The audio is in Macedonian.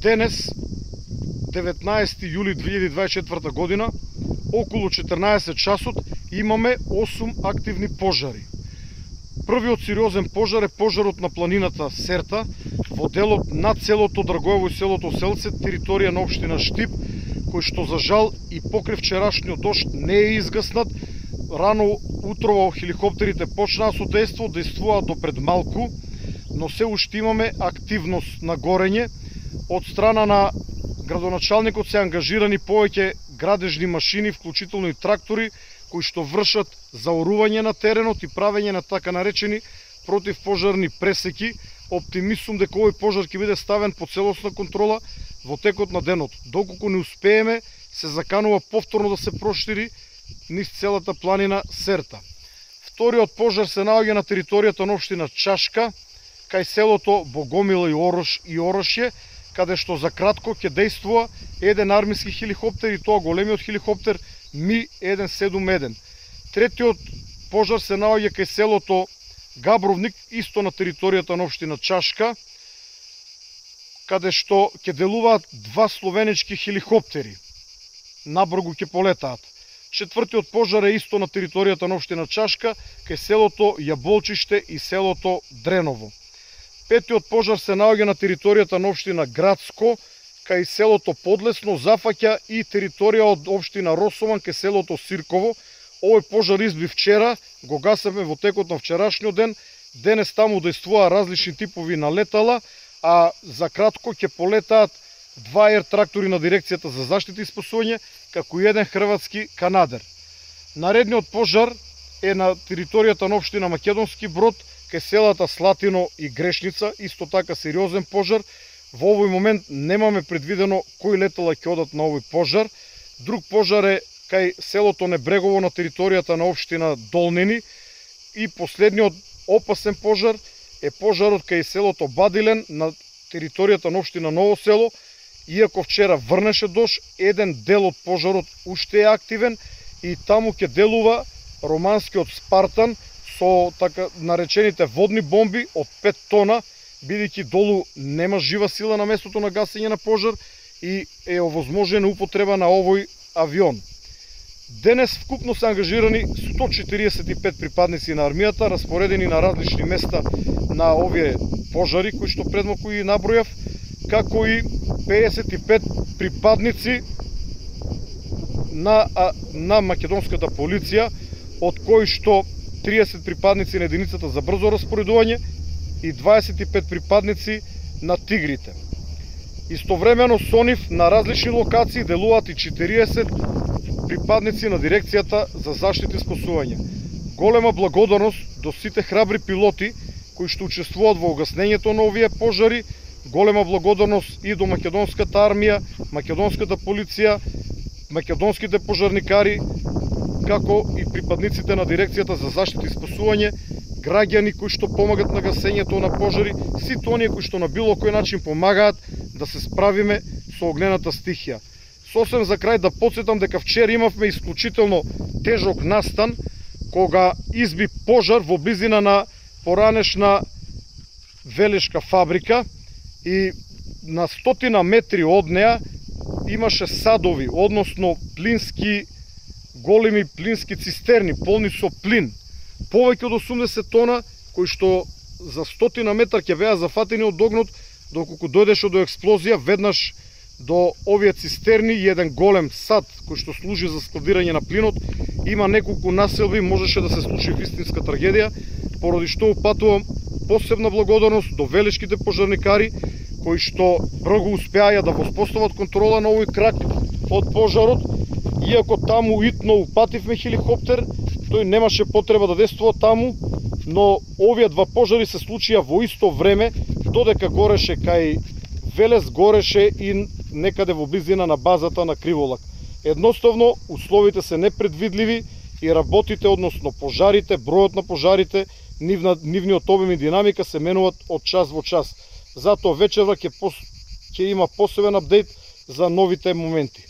Денес, 19 јули 2024 година, околу 14 часот, имаме 8 активни пожари. Првиот сериозен пожар е пожарот на планината Серта, во делот на селото Драгоево и селото Селце, територија на општина Штип, кој што за жал и покрај вчерашниот дожд не е изгаснат. Рано утрово хеликоптерите почнаа со действуваа до пред малку, но се уште имаме активност на горење. Од страна на градоначалникот се ангажирани повеќе градежни машини, вклучително и трактори, кои што вршат заорување на теренот и правење на така наречени противпожарни пресеки. Оптимист сум дека овој пожар ќе биде ставен под целосна контрола во текот на денот. Доколку не успееме, се заканува повторно да се прошири низ целата планина Серта. Вториот пожар се наоѓа на територијата на општина Чашка, кај селото Богомила и Орошје, каде што за кратко ќе действува еден армиски хеликоптер, и тоа големиот хеликоптер Ми-171. Третиот пожар се наоѓа кај селото Габровник, исто на територијата на општина Чашка, каде што ќе делуваат два словенички хеликоптери. Набргу ќе полетаат. Четвртиот пожар е исто на територијата на општина Чашка, кај селото Јаболчиште и селото Дреново. Петиот пожар се наоѓа на територијата на општина Градско, кај селото Подлесно, зафаќа и територија од општина Росован кај селото Сирково. Овој пожар изби вчера, го гасевме во текот на вчерашниот ден. Денес таму действуваа различни типови на летала, а за кратко ќе полетаат два ер-трактори на дирекцијата за заштита и спасување, како и еден хрватски канадер. Наредниот пожар е на територијата на општина Македонски Брод, кај селата Слатино и Грешница, исто така сериозен пожар. Во овој момент немаме предвидено кои летала ќе одат на овој пожар. Друг пожар е кај селото Небрегово на територијата на општина Долнени. И последниот опасен пожар е пожарот кај селото Бадилен на територијата на општина Ново село. Иако вчера врнеше дожд, еден дел од пожарот уште е активен и таму ќе делува романскиот Спартан со така наречените водни бомби од 5 тона, бидејќи долу нема жива сила на местото на гасење на пожар и е овозможена употреба на овој авион. Денес вкупно се ангажирани 145 припадници на армијата, распоредени на различни места на овие пожари, кои што предмалку и набројав, како и 55 припадници на македонската полиција, од кои што 30 припадници на единицата за брзо распоредување и 25 припадници на тигрите. Истовремено со нив на различни локации делуваат и 40 припадници на дирекцијата за заштита и спасување. Голема благодарност до сите храбри пилоти кои што учествуваат во угаснењето на овие пожари. Голема благодарност и до македонската армија, македонската полиција, македонските пожарникари, како и припадниците на дирекцијата за заштита и спасување, граѓани кои што помагат на гасењето на пожари, сите оние кои што на било кој начин помагаат да се справиме со огнената стихија. Сосем за крај да потсетам дека вчера имавме исклучително тежок настан, кога изби пожар во близина на поранешна велешка фабрика и на 100 метри од неа имаше садови, односно големи плински цистерни, полни со плин. Повеќе од 80 тона, кои што за 100 метар ќе беа зафатени од огнот, доколку дојдеше до експлозија веднаш до овие цистерни и еден голем сад кој што служи за складирање на плинот. Има неколку населби, можеше да се случи вистинска трагедија, поради што упатувам посебна благодарност до велешките пожарникари, кои што брзо успеаја да воспостават контрола на овој крак од пожарот. Иако таму итно упативме хеликоптер, тој немаше потреба да действува таму, но овие два пожари се случија во исто време, додека гореше кај Велес, гореше и некаде во близина на базата на Криволак. Едноставно, условите се непредвидливи и работите, односно пожарите, бројот на пожарите, нивниот обем и динамика се менуваат од час во час. Затоа вечерва ќе има посебен апдейт за новите моменти.